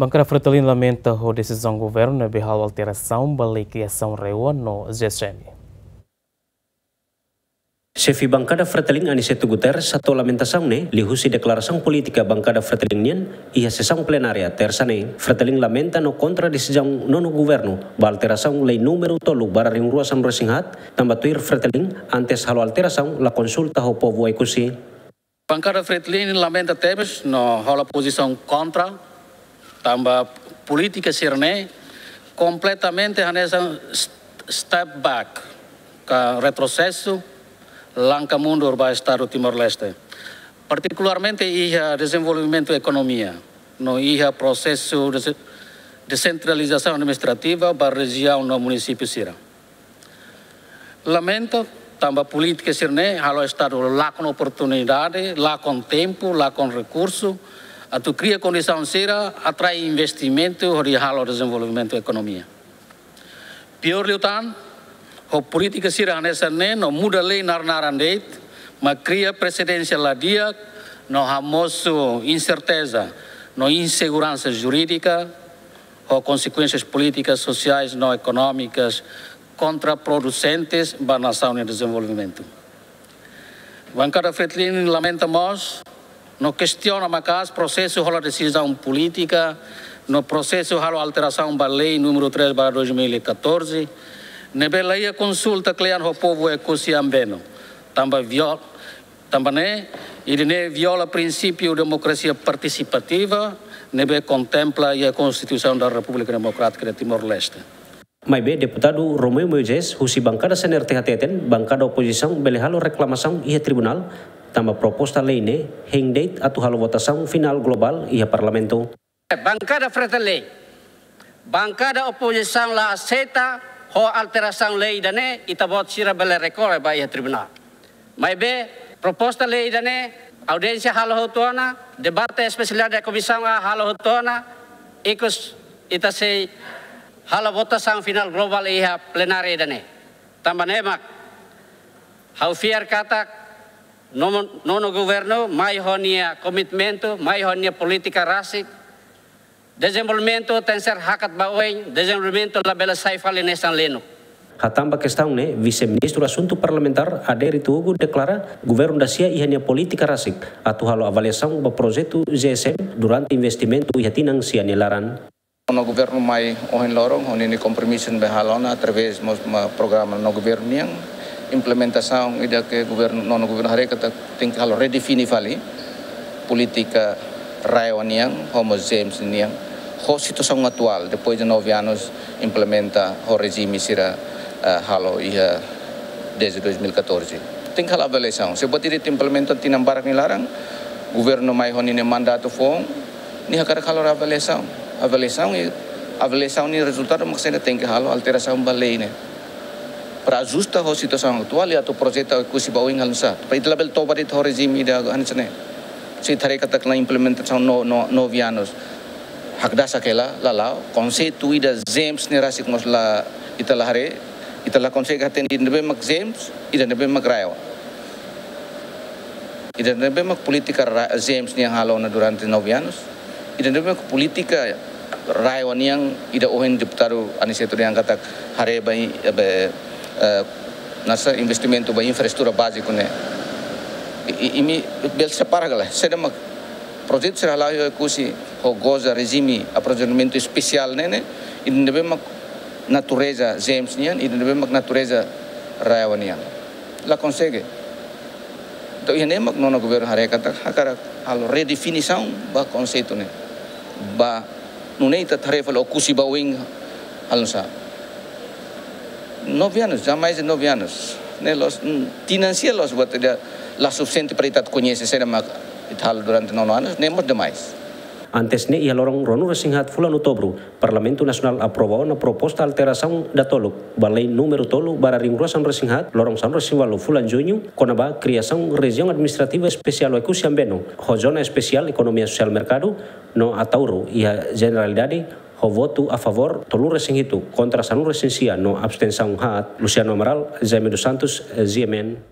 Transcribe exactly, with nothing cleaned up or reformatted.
Bankada Fretilin lamenta ho desizaun governu ne'ebé halo alterasaun ba lei kriasaun RAEOA no G S M. Xefe Bankada Fretilin Aniceto Guterres hato'o lamentasaun ne'e liuhusi deklarasaun polítika Bankada Fretilin nian iha sesaun plenária Tersa ne'e. Fretilin lamenta no kontra desizaun nonu governu ba alterasaun lei númeru tolu barra rihun rua sanulu-resin-haat, tanba tuir Fretilin, antes halo alterasaun la konsulta ho povu Oekusi. Bankada Fretilin lamenta tebes no hola pozisaun kontra, tanba polítika sira-ne'e kompletamente hanesan st-, step back, ka retrosesu, langkah mundur ba Estadu Timor-Leste, partikularmente iha dezenvolvimentu ekonomia no iha prosesu dese-, desentralizasaun administrativa ba rejiaun no munisípiu sira. Lamenta, tanba polítika sira-ne'e halo Estadu lakon oportunidade, lakon tempu, lakon rekursu atu kria kondisaun sira atrai investimentu hodi halo dezenvolvimentu ekonomia. Piór liután, ho polítika sira hanesan ne'e no muda lei naran-naran de'it, mak kria presedénsia la di'ak no hamosu inserteza no inseguransa jurídika, ho konsekuénsias polítikas, sosiais no ekonómikas kontraprodusentes ba nasaun nia dezenvolvimentu. Bankada Fretilin lamenta mós no kestiona maka'as prosesu hola desizaun polítika no prosesu halo alterasaun ba lei númeru três barra dois mil e catorze, ne'ebé la iha konsulta kle'an ho povu Oekusi Ambeno, tanba viol-, tanba ne'e, ida-ne'e viola prinsípiu demokrasia partisipativa ne'ebé kontempla iha Konstituisaun da Repúblika Demokrátika de Timor-Leste. Maibé Deputadu Romeu Moisés, husi Bankada C N R T hateten, bankada opozisaun bele halo reklamasaun iha tribunál, tanba proposta lei ne'e hein de'it atu halo votasaun finál globál iha Parlamentu. Bankada Fretilin, bankada opozisaun la aseita ho alterasaun lei ida-ne'e, ita-boot sira bele rekorre ba iha tribunál. Maibé, proposta lei ida-ne'e, audiénsia halo hotu ona, debate espesiál iha Komisaun A halo hotu ona, ikus ita sei halo votasaun finál globál iha plenária ida-ne'e. Tanba ne'e mak, ha'u fiar katak, nonu, nonu governu, mai ho nia komitmentu, mai ho nia polítika rasik, dezenvolvimentu tenkesér hakat ba oin, dezenvolvimentu labele sai fali hanesan lenuk. Hatán ba kestaun ne'e, Vise-Ministru Asuntu Parlamentár, Adérito Hugo, deklara governu dasia iha nia polítika rasik atu halo avaliasaun ba projetu G S M durante investimentu iha tinan sia nia laran. Nonu governu mai ohin loron, ho ninia kompromisu ne'ebé halo ona através mós ba programa nonu governu nian, implementasaun ida ke governu, nonu governu haree katak tenke halo redefine fali polítika RAEOA nian, ho mós GEMS nian, ho situasaun atuál, depois de nove anos implementa ho rejime sira, eh, halo iha desde dois mil e catorze. Tenke halo avaliasaun. Se buat ida ita implementa tinan barak nia laran, governu mai ho ninia mandatu foun, nia hakarak halo avaliasaun. Avaliasaun i, avaliasaun nia rezultadu mak sei ita tenke halo alterasaun ba lei ne'e. Para ajusta ho situasaun atuál i atu projeta Oekusi ba oin halo nusá. Para ita labele toba de'it ho rejime ida hanesan ne'e. Se ita haree katak la implementasaun no, no, nove anos. Hakdasak hela, la la'o, konseitu ida GEMS ne'e rasik mós la, ita la haree, ita la konsege hatene ida ne'ebé mak GEMS, ida ne'ebé mak RAEOA. Ida ne'ebé mak polítika ra-, GEMS nian halo ona durante nove anos. Ida ne'ebé mak polítika RAEOA nian ida ohin deputadu Aniceto dehan katak haree ba i-, be, eh, hanesan investimentu ba infraestrutura báziku ne'e. I, i, imi bele separa ka lae, saida mak projetu sira hala'o iha Oekusi ho goza rejime aprovizionamentu espesiál ne'e ne'e, ida ne'ebé mak natureza GEMS nian, ida ne'ebé mak natureza RAEOA nian. La konsege. Entaun, iha ne'e mak nonu governu haree katak hakarak halo redefinisaun ba konseitu ne'e. Ba nune'e ita haree fali Oekusi ba oin halo nusá. Nove anos, já mais de nove anos. Ne'e loos, mm, tinan sia loos buat ida la sufisiente para ita koñese saida mak ita halo durante nonu anos, ne'e mós demais. Antes ne'e iha loron ruanulu-resin-haat fulan Outubru, Parlamentu Nasionál aprova ona proposta alterasaun datoluk ba lei númeru tolu barra rihun rua sanulu-resin-haat, loron sanulu-resin-ualu fulan Juñu, kona-ba kriasaun Rejiaun Administrativa Espesiál Oekusi Ambeno, ho Zona Espesiál Ekonomia Sosiál Merkadu, no Ataúro iha jeneralidade, ho votu a favór tolu-resin-hitu, kontra sanulu-resin-sia no abstensaun haat. Luciano Amaral, Jaime dos Santos, G M N.